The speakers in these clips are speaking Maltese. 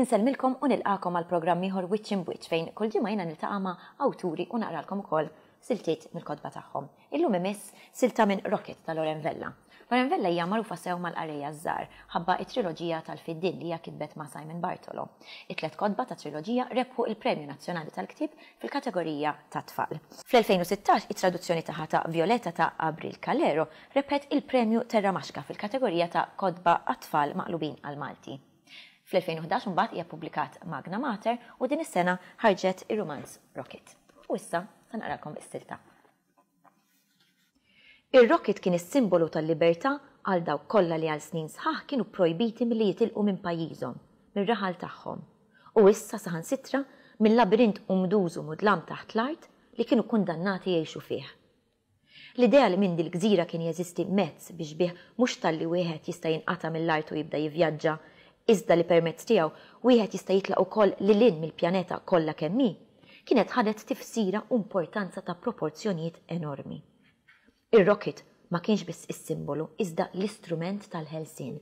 Insellmilkom u nilqagħkom għal programm ieħor Wiċċ Imb'Wiċċ fejn kull ġimgħa jiena niltaqa' ma' awturi u naqralkom ukoll siltiet mill-kotba tagħhom. Illum imiss silta minn Rocket ta' Loren Vella. Loren Vella hija magħrufa sew mal-qarrejja ż-żgħar ħabba t-triloġija tal-Fiddien li hija kitbet ma' Simon Bartolo. It-tlet kotba tat-triloġija rebħu l-Premju Nazzjonali tal-Ktieb fil-kategorija tat-tfal. Fl-2016 it-traduzzjoni tagħha ta' Violeta ta' Abril Calero rebħet il-Premju Terramaxka fil-kategorija ta' kotba għat-tfal maqlubin għall-Malti. Fl-2011 imbagħad hija ppubblikat Magna Mater u din is-sena ħarġet ir-rumanz Rocket. U issa se naqralkom is-silta. Ir-rocket kien is-simbolu tal-libertà għal dawk kollha li għal snin sħaħ kienu pprojbiti milli jitilqu minn pajjiżhom, mir-raħal tagħhom, u issa saħansitra mil-labirint umduż u mudlam taħt l-art li kienu kundannati jgħixu fih. L-idea li minn dil-gżira kien jeżisti mezz biex bih mhux talli wieħed jista' jinqata' mill-art u jibda jivvjaġġa, iżda li permezz tiegħu wieħed jista' jitlaq ukoll lil hinn mill-pjaneta kollha kemm hi, kienet ħadet tifsira u importanza ta' proporzjonijiet enormi. Ir-rocket ma kienx biss is-simbolu iżda l-istrument tal-ħelsien.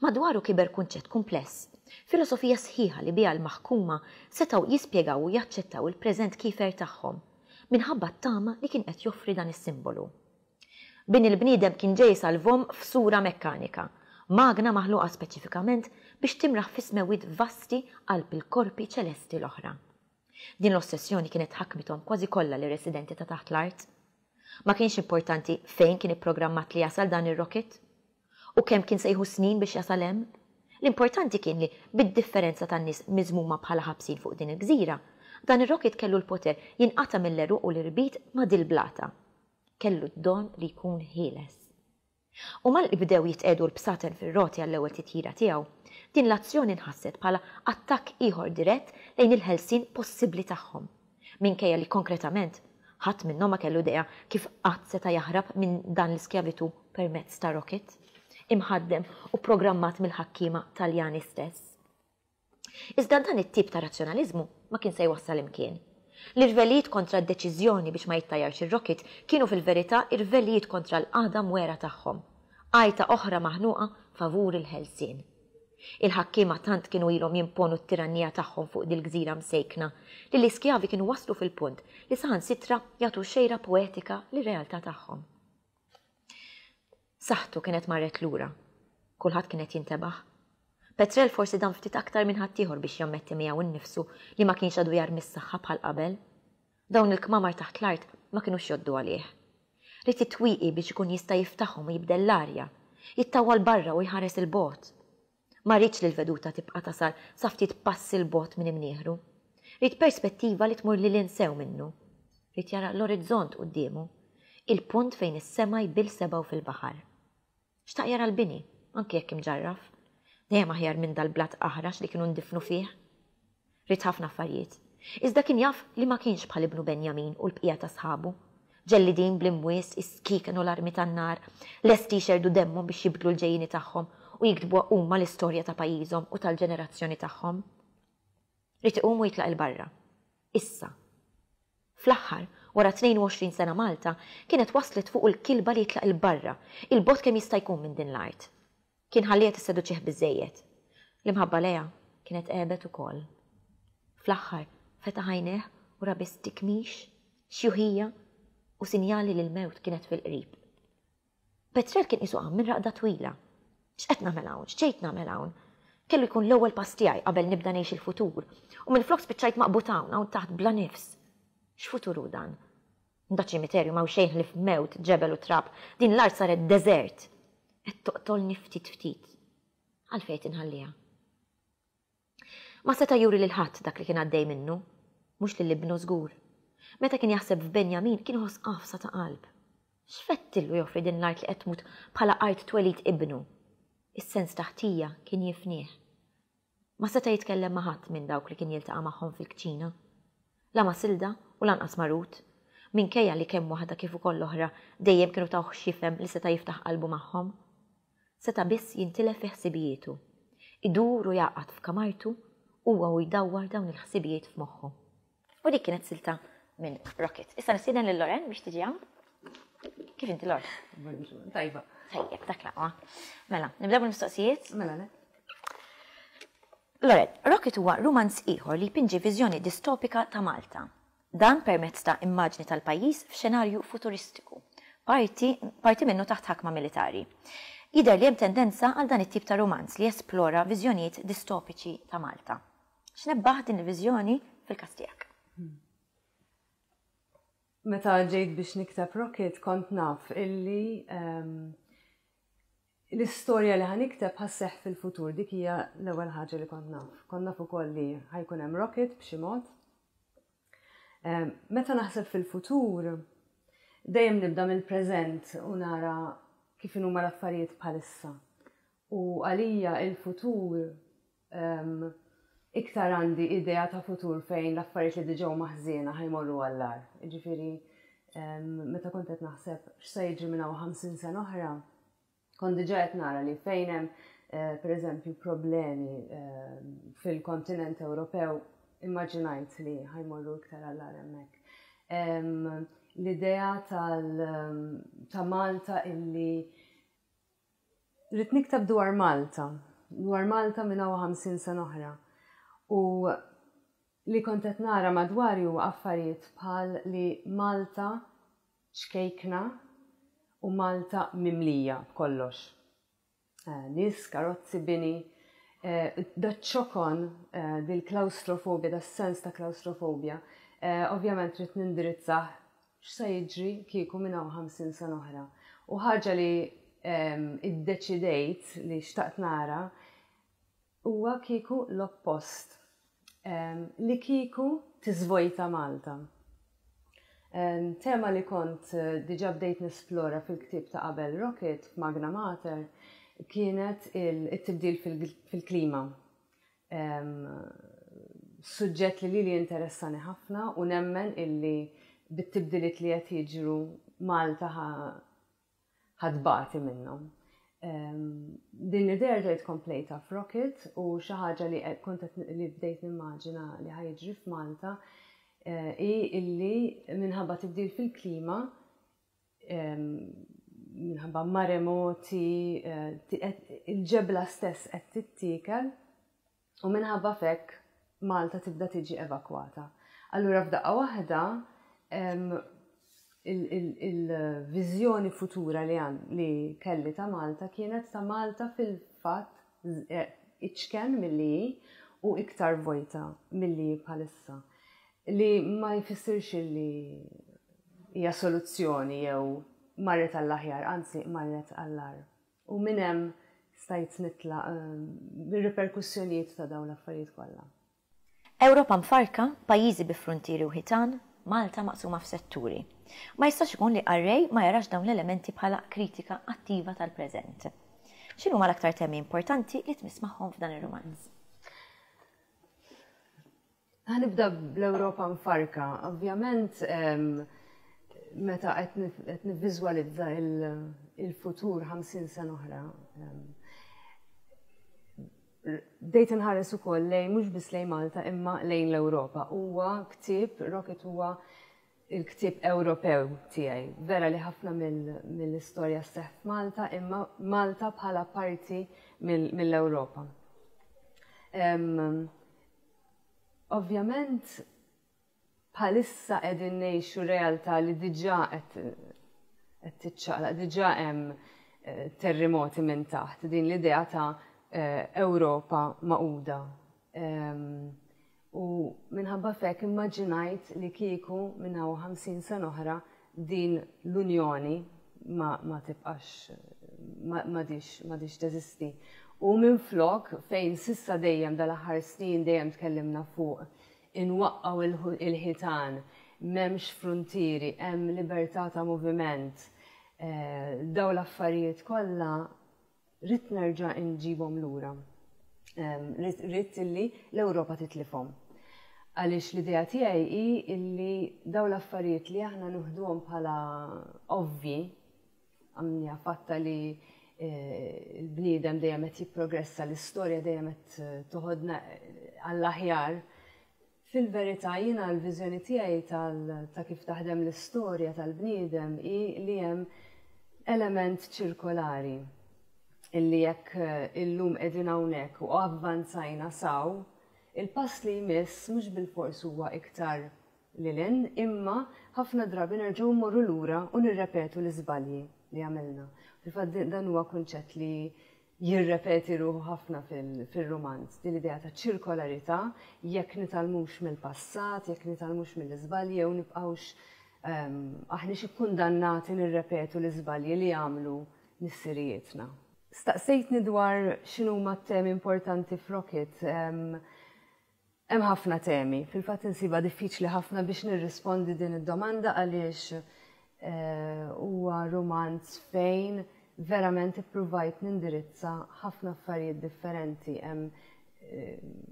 Madwaru kiber kunċett kumpless, filosofija sħiħa li biha l-maħkuma setgħu jispjegaw u jaċċettaw il-preżent kiefer tagħhom, minħabba t-tama li kien qed joffri dan is-simbolu. Bin il-bniedem kien ġej isalvhom f'sura mekkanika, magna maħluqa speċifikament biex timraħ fis-smewwiet vasti qalb il-korpi ċelesti l-oħra. Din l-ossessjoni kienet ħakmithom kważi kollha lir-residenti ta' taħt l-art. Ma kienx importanti fejn kien ipprogrammat li jasal dan ir-rokit u kemm kien se jieħu snin biex jasal hemm. L-importanti kien li, bid-differenza tan-nies miżmuma bħala ħabsin fuq din il-gżira, dan ir-rokit kellu l-poter jinqata' mill-għeruq u l-irbit ma' dil-blata. Kellu d-don li jkun ħieles. U malli bdew jitqiegħdu l-bsaten fir-roti għall-ewwel titjira tiegħu, din l-azzjoni nħasset bħala attakk ieħor dirett lejn il-ħelsien possibbli tagħhom, minkejja li konkretament ħadd minnhom ma kellu idea kif qatt seta' jaħrab minn dan l-iskjavitù permezz ta' rocket, imħaddem u pprogrammat mill-ħakkiema Taljani stess. Iżda dan it-tip ta' razzjonaliżmu ma kien se jwassal imkien. L-irvellijiet kontra d-deċiżjoni biex ma jittajjarx ir-rocket kienu fil-verità irvellijiet kontra l-qagħda mwegħra tagħhom, għajta oħra maħnuqa favur il-ħelsien. Il-ħakkiema tant kienu ilhom jimponu t-tirannija tagħhom fuq dil-gżira msejkna li l-iskjavi kienu waslu fil-punt li saħansitra jagħtu xejra poetika lir-realtà tagħhom. Saħħtu kienet marret lura. Kulħadd kien qed jintebaħ. Petrel forsi dam ftit aktar minn ħaddieħor biex jammetti miegħu nnifsu li ma kienx għadu jarmi s-saħħa bħal qabel. Dawn il-kmamar taħt l-art ma kinux jgħoddu għalih. Ried it-twieqi biex ikun jista' jiftaħhom u jibdel l-arja, jittawwal barra u jħares 'il bogħod. Ma riedx li l-veduta tibqa' tasal sa ftit passi 'l bogħod minn imnieħru. Ried perspettiva li tmur lil hinn sew minnu. Ried jara l-orizzont quddiemu, il-punt fejn is-sema jbill sebgħu fil-baħar. Xtaq jara l-bini, anki jekk imġarraf. Dejjem aħjar minn dal-blat aħrax li kienu ndifnu fih. Ried ħafna affarijiet. Iżda kien jaf li ma kienx bħal ibnu Benjamin u l-bqija ta' sħabu, ġellidin bl-imwies, is-skieken u l-armi tan-nar, lesti jxerrdu demmhom biex jibdlu l-ġejjieni tagħhom u jiktbuha huma l-istorja ta' pajjiżhom u tal-ġenerazzjoni tagħhom. Ried iqum u jitlaq 'il barra. Issa. Fl-aħħar, wara 22 sena Malta, kienet waslet fuqu l-kilba li jitlaq 'il barra, 'il bogħod kemm jista' jkun minn din l-art. Kien ħalliha tisseduċih biżżejjed. L-imħabba lejha kienet għebet ukoll. Fl-aħħar, fetaħ għajnejh u ra biss tikmix, xjuħija u sinjali li l-mewt kienet fil-qrib. Petrel kien qisu qam minn raqda twila. X'qed nagħmel hawn? X'ġejt nagħmel hawn? Kellu jkun l-ewwel pass tiegħi qabel nibda ngħix il-futur, u minflok spiċċajt maqbud hawn, hawn taħt bla nifs. X'futur hu dan? Da ċimiterju m'hawn xejn ħlief mewt, ġebel u trab. Din l-art saret deżert. Qed toqtolni ftit ftit. Għalfejn qed inħalliha? Ma seta' juri lil ħadd dak li kien għaddej minnu. Mhux lil ibnu żgur. Meta kien jaħseb f'Benjamin kien iħoss għafsa ta' qalb. X'fettillu joffri din l-art li qed tmut bħala art twelid ibnu? Is-sens ta' ħtija kien jifnih. Ma seta' jitkellem ma' ħadd minn dawk li kien jiltaqa' magħhom fil-kċina. La ma' Silda u lanqas ma' Ruth, minkejja li kemm waħda kif ukoll l-oħra dejjem kienu tawh x'jifhem li seta' jiftaħ qalbu magħhom. Seta' biss jintilef fi ħsibijietu. Idur u jagħqad f'kamartu huwa u jdawwar dawn il-ħsibijiet f'moħħu. U dik kienet silta minn Rocket. Issa nistieden lil Loren biex tiġi hawn. Kif inti Lor? Tajba. Tajjeb, dak laqwa. Mela, nibdew bil-mistoqsijiet? Mela, le. Loren, Rocket huwa rumanz ieħor li jpinġi viżjoni distopika ta' Malta. Dan permezz ta' immaġni tal-pajjiż f'xenarju futuristiku, parti parti minnu taħt ħakma militari. Jidher li hemm tendenza għal dan it-tip ta' rumanz li jesplora viżjonijiet distopiċi ta' Malta. X'nebbaħ din il-viżjoni fil-każ tiegħek? Meta ġejt biex nikteb Rocket kont naf illi l-istorja li ħa nikteb ħa sseħħ fil-futur, dik hija l-ewwel ħaġa li kont naf. Kont naf ukoll li ħa jkun hemm rocket b'xi mod. Meta naħseb fil-futur, dejjem nibda mill-preżent u nara kif inhuma l-affarijiet bħalissa. U għalija il-futur iktar għandi idea ta' futur fejn l-affarijiet li diġà huma ħżiena ħa jmorru għall-agħar. Jiġifieri meta kont qed naħseb x'se jiġri minn hawn 50 sena oħra, kont diġà qed nara li fejn hemm eh, pereżempju problemi eh, fil-kontinent Ewropew immaġinajt li ħa jmorru iktar għall-agħar hemmhekk. L-idea tal ta' Malta illi Ridt nikteb dwar Malta, dwar Malta minn hawn 50 sena oħra. U li kont qed nara madwari huwa affarijiet bħal li Malta ċkejkna u Malta mimlija b'kollox. Eh, nies, karozzi, bini, eh, daċ-ċokon, eh, dil-klawstrofobja, das-sens ta' klawstrofobja, ovvjament ridt nindirizzah X'se jiġri kieku minn hawn 50 sena oħra? U ħaġa li iddeċidejt li xtaqt nara huwa kieku l-oppost. Li kieku tiżvojta Malta. Tema li kont diġà bdejt nesplora fil-ktieb ta' qabel Rocket f'Magna Mater kienet it-tibdil fil-klima. Suġġett li lili jinteressani ħafna u nemmen illi bit-tibdiliet li qed jiġru Malta ħa tbati minnhom. Din l-idea rġajt komplejtha f'Rocket u xi ħaġa li kont li bdejt nimmaġina li ħa jiġri f'Malta eh, hi illi minħabba tibdil fil-klima minħabba maremoti, eh, il-ġebla stess qed tittiekel u minħabba fekk Malta tibda tiġi evakwata. Allura f'daqqa waħda il-viżjoni futura li għan li kelli ta' Malta kienet ta' Malta fil-fatt eh, iċken milli u iktar vojta milli bħalissa. Li ma jfissirx li hija soluzzjoni jew marret għall-aħjar, anzi marret għall-agħar. U minn hemm stajt nitlaq mir-riperkussjonijiet ta' dawn l-affarijiet kollha. Ewropa mfarrka, pajjiżi bi fruntieri u ħitan, Malta maqsuma f'setturi. Ma jistax ikun li qarrej ma jarax dawn l-elementi bħala kritika attiva tal-preżent. X'inhuma l-aktar temi importanti li tmiss magħhom f'dan ir-rumanz? Ħa nibda bl-Ewropa mfarka. Ovvjament, meta qed nivviżwalizza il-futur 50 sena oħra, bdejt inħares ukoll lejn mhux biss lejn Malta imma lejn l-Ewropa. Huwa ktieb, Rocket huwa il-ktieb Ewropew tiegħi. Vera li ħafna mill-istorja sseħħ f'Malta imma Malta bħala parti mill-Ewropa. Ovvjament bħalissa qegħdin ngħixu realtà li diġà qed tiċċaqlaq, diġà hemm eh, terremoti minn taħt din l-idea ta' eh, Ewropa maquda. Ehm, u minħabba fek immaġinajt li kieku minn hawn 50 sena oħra din l-Unjoni ma, ma tibqax m'għadhiex teżisti. U minflok fejn s'issa dejjem dal-aħħar snin dejjem tkellimna fuq inwaqqgħu il-ħitan, m'hemmx fruntieri, hemm libertà ta' moviment, eh, daw l-affarijiet kollha ridt nerġa' inġibhom lura. Ridt illi l-Ewropa titlifhom. Għaliex l-idea tiegħi hi illi daw l-affarijiet li aħna nuħduhom bħala ovvi, għamnija fatta li eh, l-bniedem dejjem qed jipprogressa, l-istorja dejjem qed eh, toħodna eh, għall-aħjar. Fil-verità jiena l-viżjoni tiegħi ta' kif taħdem l-istorja tal-bniedem hi li hemm element ċirkolari. Illi jekk illum qegħdin hawnhekk u avvanzajna saw, il-pass li jmiss mhux bilfors huwa iktar lil hinn, imma ħafna drabi nerġgħu mmorru lura u nirrepetu l-iżbalji li għamilna. Fil-fatt dan huwa kunċett li jirrepeti ruħu ħafna fil-rumanz, din l-idea ta' ċirkolarità, jekk nitgħallmux mill-passat, jekk nitgħallmux mill-iżbalji jew nibqgħux ehm, aħniex ikkundannati nirrepetu l-iżbalji li għamlu missirijietna. Staqsejtni dwar x'inhuma t-temi importanti f'Rocket. Ehm, Hemm ħafna temi. Fil-fatt insibha diffiċli ħafna biex nirrispondi din id-domanda għaliex huwa rumanz fejn verament ippruvajt nindirizza ħafna affarijiet differenti. Hemm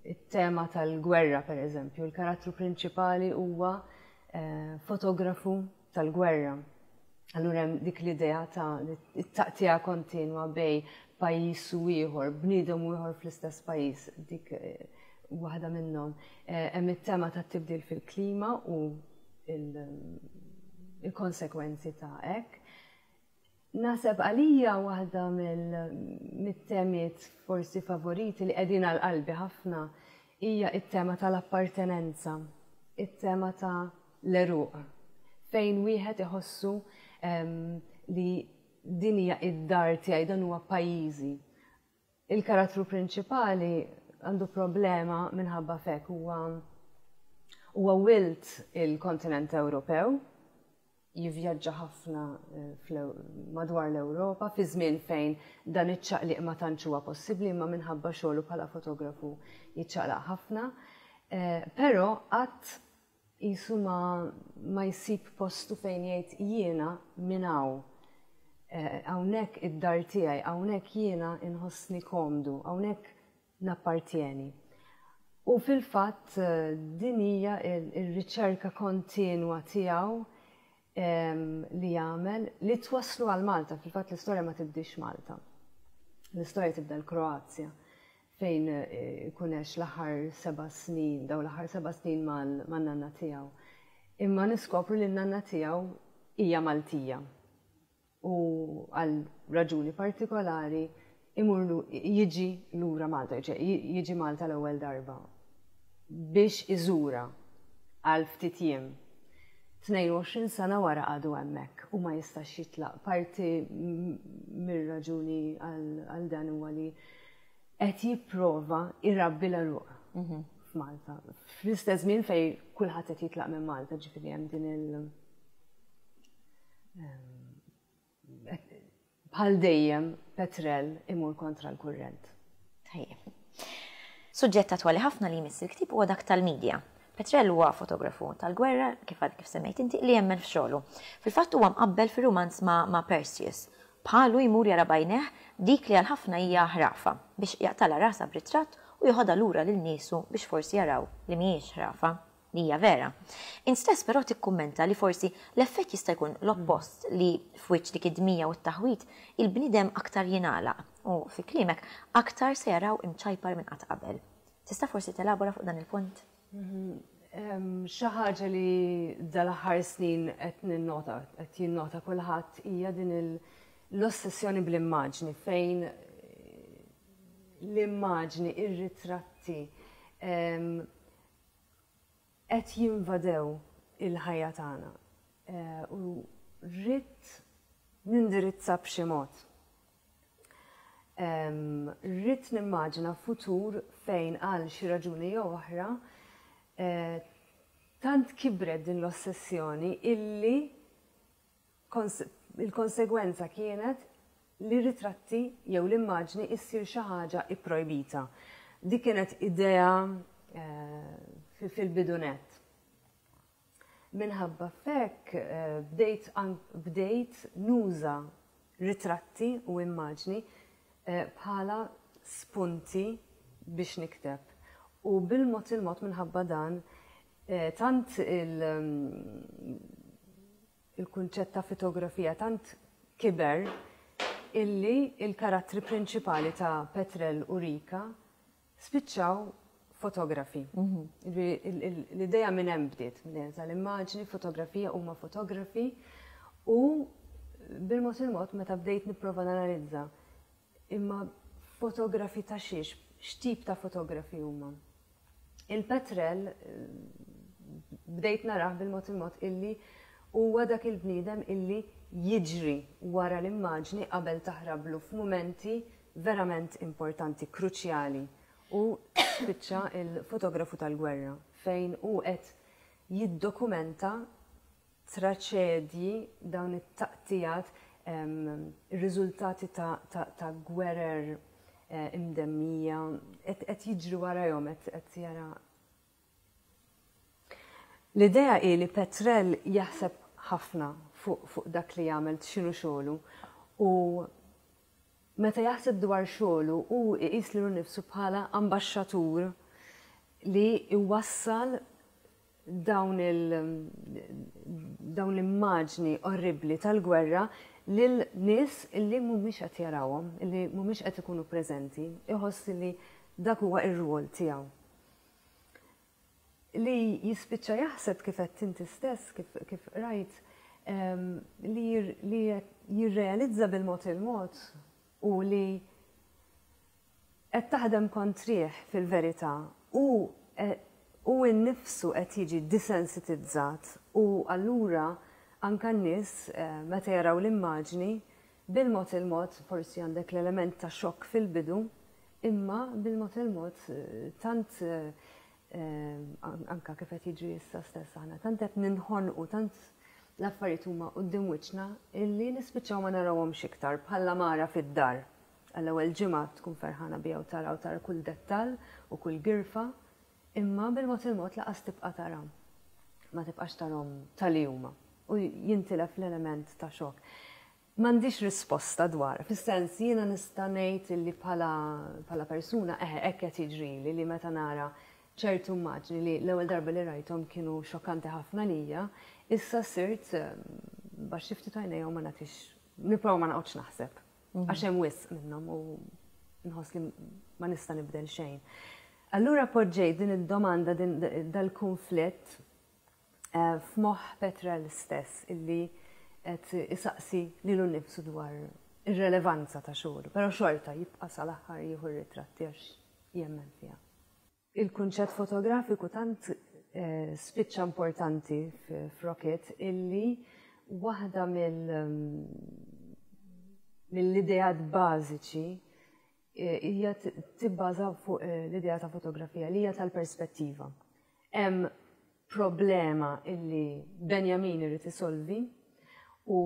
it-tema tal-gwerra pereżempju, il-karattru prinċipali huwa fotografu tal-gwerra. Allura hemm dik l-idea ta' it-taqtiegħa kontinwa bej pajjiż u ieħor, bniedem u ieħor fl-istess pajjiż, dik eh, waħda minnhom. Eh, hemm it-tema tat-tibdil fil-klima u il-konsekwenzi ta' hekk. Naħseb għalija waħda mit-temiet forsi favoriti li qegħdin għal qalbi ħafna hija t-tema tal-appartenenza, it-tema ta' l-għeruq, fejn wieħed iħossu li din hija id-dar tiegħi, dan huwa pajjiżi. Il-karattru prinċipali għandu problema minħabba fek huwa huwa wild il-kontinent Ewropew, jivvjaġġa ħafna eh, madwar l-Ewropa fi żmien fejn dan iċ-ċaqliq ma tantx huwa possibbli imma minħabba xogħlu bħala fotografu jiċċaqlaq ħafna. Eh, però qatt qisu ma, ma jsib postu fejn jgħid jiena minn hawn. Eh, hawnhekk id-dar tiegħi, hawnhekk jiena inħossni komdu, hawnhekk nappartjeni. U fil-fatt din hija r-riċerka kontinwa tiegħu li jagħmel li twasslu għal Malta. Fil-fatt l-istorja ma tibdix Malta. L-istorja tibda l-Kroazja fejn eh, ikun għex l-aħħar seba' snin, daw l-aħħar seba' snin man-nanna tiegħu. Imma niskopru li n-nanna tiegħu hija Maltija. u għal raġuni partikolari imur jiġi lura Malta, jiġi Malta l-ewwel darba biex iżura għal ftit jiem. 22 sena wara għadu hemmhekk u ma jistax jitlaq. Parti mir-raġuni għal dan huwa li qed jipprova jrabbi l-għeruq mhm. f'Malta. Fl-istess żmien fejn kulħadd qed jitlaq minn Malta, ġifieri hemm din il- Bħal dejjem Petrel imur kontra l-kurrent. Tajjeb. Suġġett attwali ħafna li jmiss il-ktieb huwa dak tal-medja. Petrel huwa fotografu tal-gwerra, kif għad kif semmejt inti, li jemmen f'xogħlu. Fil-fatt huwa mqabbel fir-rumanz ma', ma' Perseus. Bħalu jmur jara b'għajnejh dik li għal ħafna hija ħrafa, biex jaqtagħlha rasha b'ritratt u joħodha lura lil niesu biex forsi jaraw li mhijiex ħrafa. Li hija vera. Int stess però tikkummenta li forsi l-effett jista' jkun l-oppost li f'wiċċ dik id-dmija u t-taħwid il-bniedem aktar jingħalaq u, fi kliemek, aktar se jaraw imċajpar minn qatt qabel. Tista' forsi telabora fuq dan il-punt? Xi ħaġa li dal-aħħar snin qed ninnota, qed jinnota kulħadd hija din l-ossessjoni bl-immaġni fejn l-immaġni, ir-ritratti, qed jinvadew il-ħajja tagħna u rrid nindirizza b'xi mod. Rrid nimmaġina futur fejn għal xi raġuni jew oħra tant kibret din l-ossessjoni illi Il-konsegwenza kienet li r-ritratti jew l-immaġni issir xi ħaġa ipprojbita. Dik kienet idea fil-bidu nett. Minħabba f'hekk bdejt bdejt nuża ritratti u immaġni bħala spunti biex nikteb. U bil-mod il-mod minħabba dan tant il-kunċett ta' fitografija tant kiber illi il-karattri prinċipali ta' Petrel u Rika spiċċaw fotografi. Mhm. L-idea minn hemm bdiet, l-idea tal-immaġni, fotografija huma fotografi u bil-mod il-mod meta bdejt nipprova nanalizza. Imma fotografi ta' xiex, x'tip ta' fotografi huma? Il-Petrel bdejt narah bil-mod il-mod illi huwa dak il-bniedem illi jiġri wara l-immaġni qabel taħrablu f'mumenti verament importanti, kruċjali. U spiċċa il-fotografu tal-gwerra fejn hu qed jiddokumenta traċedji, dawn it-taqtigħat, ir-riżultati ta' gwerer imdemmija, qed jiġri warajhom, qed jara. L-idea hi li Petrel jaħseb ħafna fuq dak li jagħmel, x'inhu xogħlu, u meta jaħseb dwar xogħlu hu jqis lilu nnifsu bħala ambaxxatur li jwassal dawn il dawn l-immaġni orribbli tal-gwerra lil nies illi mhumiex qed jarawhom, illi mhumiex qed ikunu preżenti, iħoss li dak huwa r-rwol tiegħu. Li jispiċċa jaħseb kif għedt inti stess, kif, kif qrajt, li, li jirrealizza bil-mod il-mod u li Qed taħdem kontrih fil-verità. Hu hu nnifsu qed jiġi disensitizzat u allura anke n-nies meta jaraw l-immaġni, bil-mod il-mod, forsi għandek l-element ta' xokk fil-bidu, imma bil-mod il-mod tant anke kif qed jiġri issa stess aħna, tant qed ninħonqu, tant l-affarijiet huma quddiem wiċċna illi nispiċċaw ma narawhomx iktar bħall-għamara fid-dar. Għall-ewwel ġimgħa tkun ferħana biha u tara u tara kull dettall u kull girfa, imma bil-mod il-mod lanqas tibqa' tara. Ma tibqax tarhom ta' li huma u jintilef l-element ta' xokk. M'għandix risposta dwar, fis-sens jiena nista' ngħid illi bħala bħala persuna eħe hekk qed jiġrili li meta nara ċertu immaġni li l-ewwel darba li rajthom kienu xokkanti ħafna għalija, issa sirt baxxi ftit għajnejja u ma nagħtix nipprova ma noqgħodx naħseb. Għax hemm wisq minnhom u nħoss li ma nista' nibdel xejn. Allura poġġejt din id-domanda din dal-kunflitt eh, f'moħħ Petrel stess illi qed isaqsi lilu nnifsu dwar ir-relevanza ta' xogħlu, però xorta jibqa' sal-aħħar jieħu r-ritratti għax jemmen fiha. Il-kunċett fotografiku tant spiċċa importanti f'Rocket illi waħda mill-ideat bażiċi hija tibbaża fuq l-idea ta' fotografija li hija tal-perspettiva. Hemm problema illi Benjamin irid isolvi u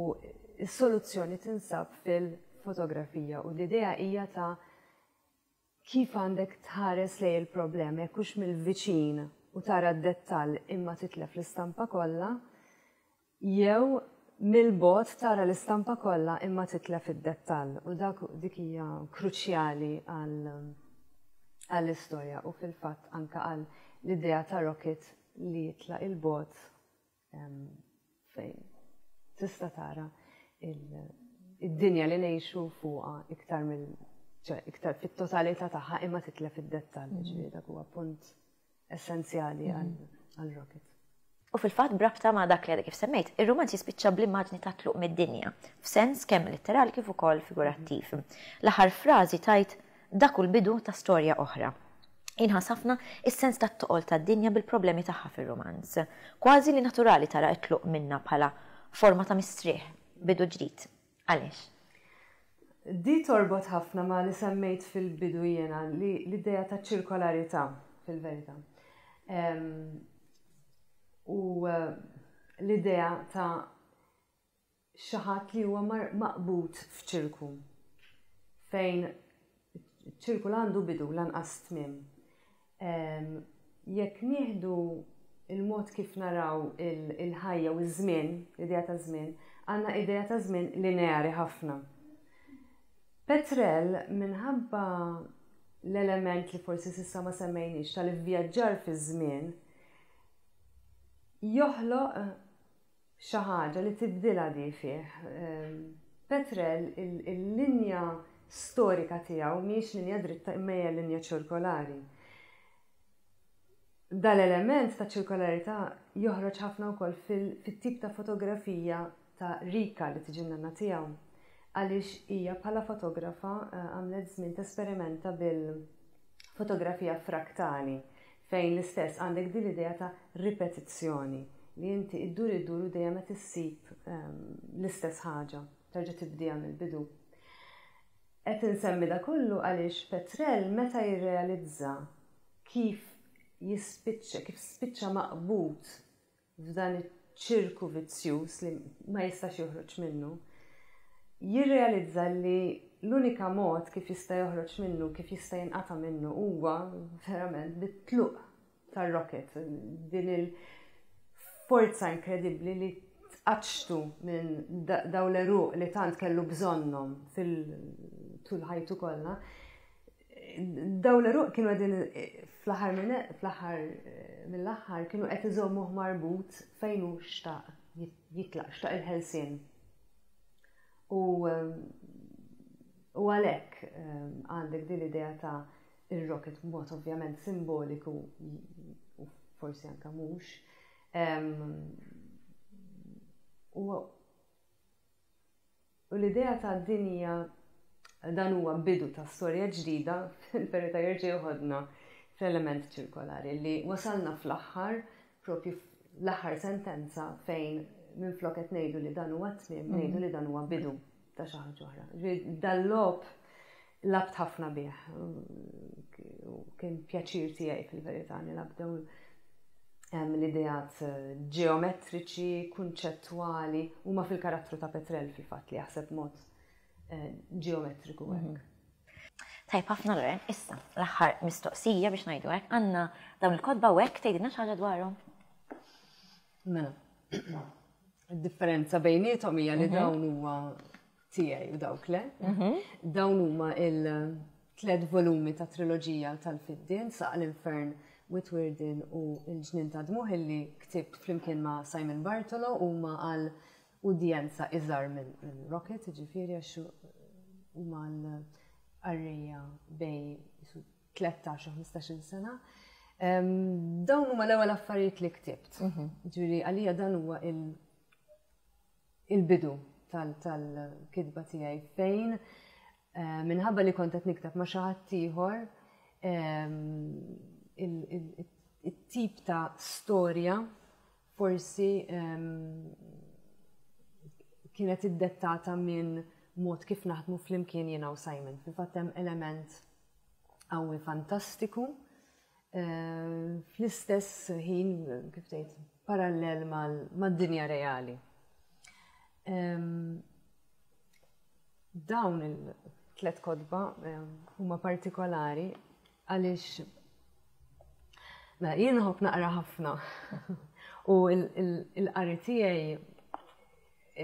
s-soluzzjoni tinsab fil-fotografija u l-idea hija ta' Kif għandek tħares lejn il-problema, jekk hux mill-viċin u tara d-dettall imma titlef l-istampa kollha, jew mill-bogħod tara l-istampa kollha imma titlef id-dettall. U dak dik hija kruċjali għall-istorja u fil-fatt anke għal l-idea ta' Rocket li jitlaq il-bogħod fejn tista' tara id-dinja li ngħixu fuqha iktar mill iktar fit-totalità tagħha imma titlef id-dettall, mhm. ġifieri dak huwa punt essenzjali mhm. għal Rocket. U fil-fatt brabta ma' dak li għadek kif semmejt, ir-romanz jispiċċa bl-immaġni ta' tluq mid-dinja, f'sens kemm litterali kif ukoll figurattiv. Mhm. L-aħħar frażi tajt Dak hu l-bidu ta' storja oħra. Jinħass ħafna is-sens tat-toqol tad-dinja bil-problemi tagħha fir-rumanz. Kważi li naturali tara t-tluq minnha bħala forma ta' mistrieħ, bidu ġdid. Għaliex? Di torbot ħafna ma' li semmejt fil-bidu jiena, li l-idea ta' ċirkolarità, fil-verità. U l-idea ta' xi ħadd li huwa maqbud f'ċirku fejn ċirku la għandu bidu lanqas tmiem. Jekk nieħdu il-mod kif naraw il-ħajja u ż-żmien, l-idea ta' żmien, għandna idea ta' żmien lineari ħafna. Petrel minħabba l-element li forsi s'issa ma semmejniex tal-ivvjaġġar fiż-żmien joħloq xi ħaġa li tibdilha di fih. Petrel il-linja storika tiegħu mhijiex linja dritta imma hija linja ċirkolari. Dal-element ta' ċirkolarità joħroġ ħafna wkoll fit-tip ta' fotografija ta' Rika li tiġi n-nanna tiegħu. għaliex hija bħala fotografa eh, għamlet żmien tesperimenta bil-fotografija fraktali fejn l-istess għandek din l-idea ta' ripetizzjoni li inti iddur iddur u dejjem qed issib ehm, l-istess ħaġa, terġa' tibdiha mill-bidu. Qed insemmi da kollu għaliex Petrel meta jirrealizza kif jispiċċa, kif spiċċa maqbud f'dan iċ-ċirku vizzjuż li ma jistax joħroġ minnu, jirrealizza li l-unika mod kif jista' joħroġ minnu, kif jista' jinqata' minnu huwa verament bit-tluq tar-rocket, din il-forza inkredibbli li tqaċċtu minn daw l-eruq li tant kellu bżonnhom fil-tul ħajtu kollha. Daw l-eruq kienu qegħdin fl-aħħar fl-aħħar mill-aħħar kienu qed iżommuh marbut fejn hu xtaq jitlaq, xtaq il-ħelsien. U u għalhekk għandek din l-idea ta' ir-rocket b'mod ovvjament simboliku u forsi anka mhux. U U l-idea ta' din hija dan huwa bidu ta' storja ġdida fil-verità jerġa' joħodna fl-element ċirkolari li wasalna fl-aħħar propju l-aħħar sentenza fejn minflok qed ngħidu li dan huwa tmiem, mhm. ngħidu li dan huwa bidu ta' xi ħaġa oħra. Dal-logħob labt ħafna bih. Kien pjaċir tiegħi fil-verità nilgħab dawn l-ideat eh, ġeometriċi, kunċettwali, huma fil-karattru ta' Petrel fil-fatt li jaħseb mod eh, ġeometriku hekk. Mhm. Tajb ħafna Loren, issa l-aħħar mistoqsija biex ngħidu hekk, għandna dawn il-kotba u hekk tgħidilna xi ħaġa dwarhom. Mela. Id-differenza bejniethom hija li mhm. dawn huwa tiegħi u dawk le. Mhm. Dawn huma il-tlet volumi ta' triloġija tal-Fiddien, Saq l-Infern, Witwirdin u l-Ġnien ta' Dmuħ illi ktibt flimkien ma' Simon Bartolo huma għal udjenza iżgħar minn Rocket, ġifieri għax huma għal qarrejja bej 13 u 15 sena. Dawn huma l-ewwel affarijiet li ktibt. Mhm. Ġifieri għalija dan huwa il-bidu tal-kitba tiegħi fejn eh, minħabba li kont qed nikteb ma' xi ħadd ieħor it-tip ta' storja forsi kienet iddettata minn mod kif naħdmu flimkien jiena u Simon. Fil-fatt hemm element qawwi fantastiku eh, fl-istess ħin kif tgħid parallel mad-dinja reali. Dawn il-tlet kotba huma partikolari għaliex mela jien nħobb naqra ħafna u il-qari tiegħi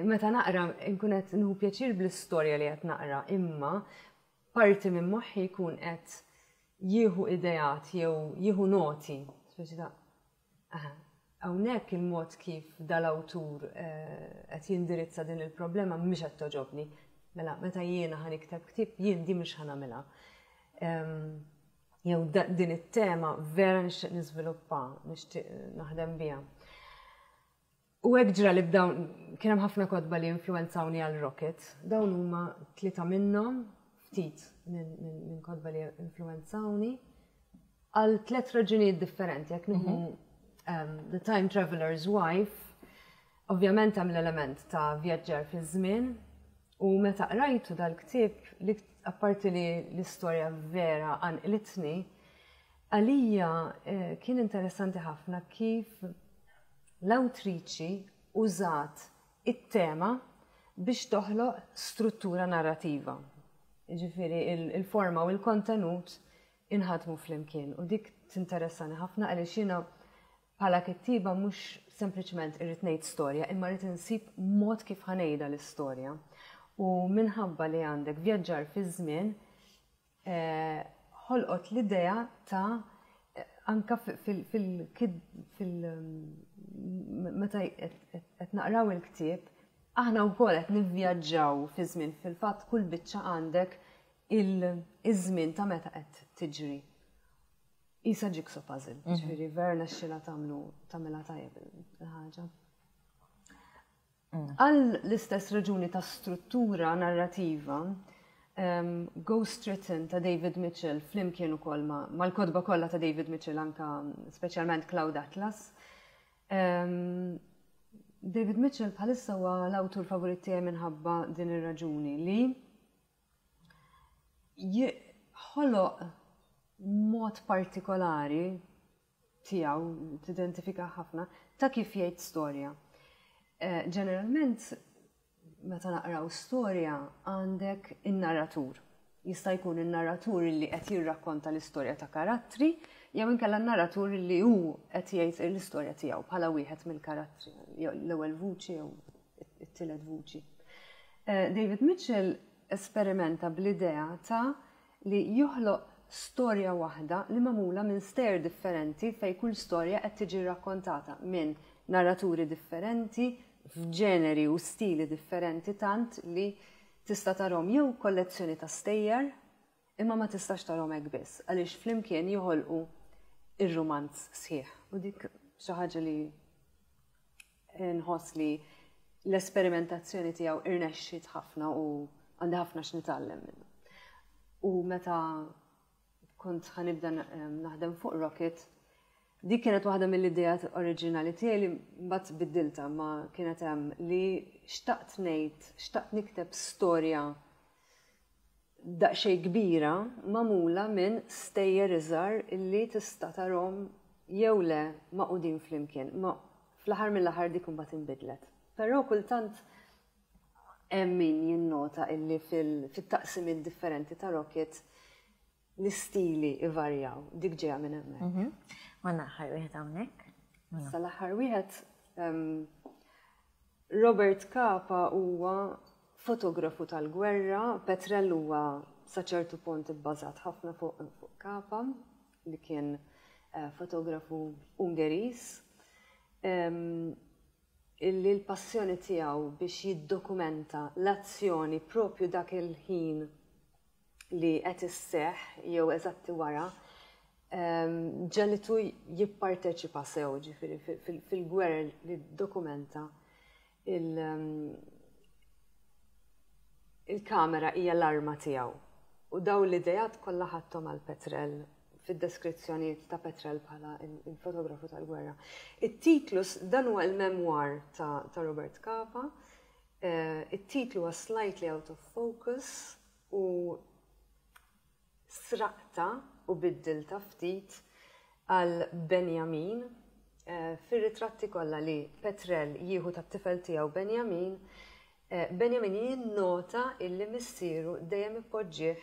meta naqra nkun qed nħu pjaċir bl-istorja li qed naqra imma parti minn moħħi jkun qed jieħu ideat jew jieħu noti, speċi ta' hawnhekk il-mod kif dal-awtur eh, qed jindirizza din il-problema mhix qed toġobni. Mela, meta jiena ħa nikteb ktieb, jien di mhux ħa nagħmilha. Jew din it-tema vera nixtieq niżviluppa, nixtieq naħdem biha. U hekk ġra li b'dawn kien hemm ħafna kotba li influwenzawni għal Rocket. Dawn huma tlieta minnhom, ftit minn kotba li influwenzawni għal tliet raġunijiet differenti. Jekk nieħu mhm. um, The Time Traveler's Wife, ovvjament hemm l-element ta' vjaġġar fi żmien u meta qrajtu dal-ktieb li apparti li l-istorja vera għanqlitni, għalija eh, kien interessanti ħafna kif L-awtriċi użat it-tema biex toħloq struttura narrativa. Jiġifieri il-forma u l-kontenut inħadmu flimkien u dik tinteressani ħafna għaliex jiena bħala kittieba mhux sempliċement irrid ngħid storja imma rrid insib mod kif ħa ngħidha l-istorja. U minħabba li għandek vjaġġar fiż-żmien, eh, ħolqot l-idea ta' eh, anka fil fil meta qed naqraw il-ktieb, aħna wkoll qed nivvjaġġaw fi żmien fil-fatt kull biċċa għandek il-żmien ta' meta qed tiġri. Isa jigsaw puzzle, mhm. ġifieri vera nexxilha tagħmlu tagħmilha tajjeb il-ħaġa. Għal l-istess raġuni ta' struttura narrativa, Ghost Written ta' David Mitchell flimkien ukoll mal-kotba kollha ta' David Mitchell anka speċjalment Cloud Atlas. David Mitchell bħalissa huwa l-awtur favorit tiegħi minħabba din ir-raġuni li ħoloq mod partikolari tiegħu tidentifika ħafna ta' kif jgħid storja. Eh, ġeneralment meta naqraw storja għandek in-narratur. Jista' jkun in-narratur li qed jirrakkonta l-istorja ta' karattri, jew inkella n-narratur li hu qed jgħid l-istorja tiegħu bħala wieħed mill-karattri, l-ewwel vuċi jew it-tielet vuċi. Eh, David Mitchell esperimenta bl-idea ta' li joħloq storja waħda li magħmula minn stejjer differenti fejn kull storja qed tiġi rrakkontata minn narraturi differenti f'ġeneri u stili differenti tant li tista' tarhom jew kollezzjoni ta' stejjer imma ma tistax tarhom hekk biss għaliex flimkien joħolqu ir-rumanz sħiħ. U dik xi ħaġa li Nħoss li l-esperimentazzjoni tiegħu irnexxiet ħafna u għandi ħafna x'nitgħallem minnu. U meta kont ħanibda naħdem fuq Rocket, dik kienet waħda mill-ideat oriġinali tiegħi li mbagħad biddilta ma kienet hemm li xtaqt ngħid, xtaqt nikteb storja daqsxejn kbira magħmula minn stejjer iżgħar illi tista' tarhom jew le magħqudin flimkien. Ma fl-aħħar mill-aħħar dik imbagħad inbidlet. Però kultant hemm min jinnota illi fit-taqsimiet differenti ta' Rocket l-istili ivarjaw. Dik ġejja minn hemmhekk. Mhm. Għandna aħħar wieħed hawnhekk. Sa l-aħħar wieħed Robert Capa huwa fotografu tal-gwerra, Petrel huwa sa ċertu punt ibbażat ħafna fuq Capa li kien eh, fotografu Ungeriż illi l-passjoni tiegħu biex jiddokumenta l-azzjoni propju dak il-ħin li qed isseħħ jew eżatti wara ġegħlitu jipparteċipa sew ġifieri fil-gwerer li ddokumenta il-kamera hija l-arma tiegħu. U daw l-idejat kollha ħadthom għal Petrel fid-deskrizzjonijiet ta' Petrel bħala il-fotografu tal-gwerra. It-titlu dan huwa il-memoir ta' Robert Capa. Eh, it-titlu huwa slightly out of focus u sraqtha u biddiltha ftit għal Benjamin. Fir-ritratti kollha li Petrel jieħu tat-tifel tiegħu Benjamin, Benjamin jinnota illi missieru dejjem ipoġġih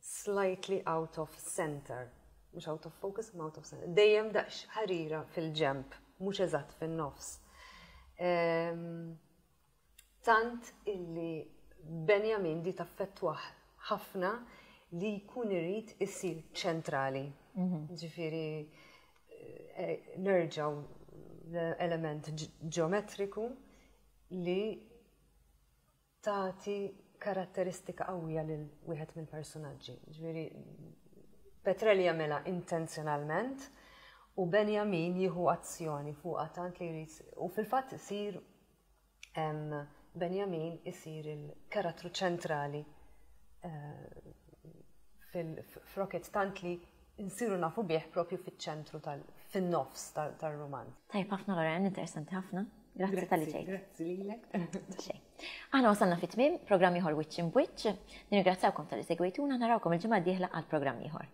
slightly out of center. Mhux out of focus, imma out of center. Dejjem daqs ħarira fil-ġenb, mhux eżatt fin-nofs. Tant illi Benjamin di taffettwah ħafna li jkun irid isir ċentrali. Mhm. Ġifieri eh, nerġgħu l-element ġeometriku li tagħti karatteristika qawwija lil wieħed mill-persunaġġi. Ġifieri Petrelli jagħmilha intenzjonalment u Benjamin jieħu azzjoni fuqha tant li jrid u fil-fatt isir Benjamin isir il-karattru ċentrali eh, fil-Rocket tant li nsiru nafu bih propju fiċ-ċentru fin-nofs tal-romanz. Tajb ħafna Loren, interessanti ħafna. Grazzi tal-li ġejt. Grazzi lilek. Aħna wasalna fit-tmiem programm ieħor Wiċċ Imbwiċċ. Nirringrazzjawkom tal-li segwejtuna, narawkom il-ġimgħa d-dieħla għal programm ieħor.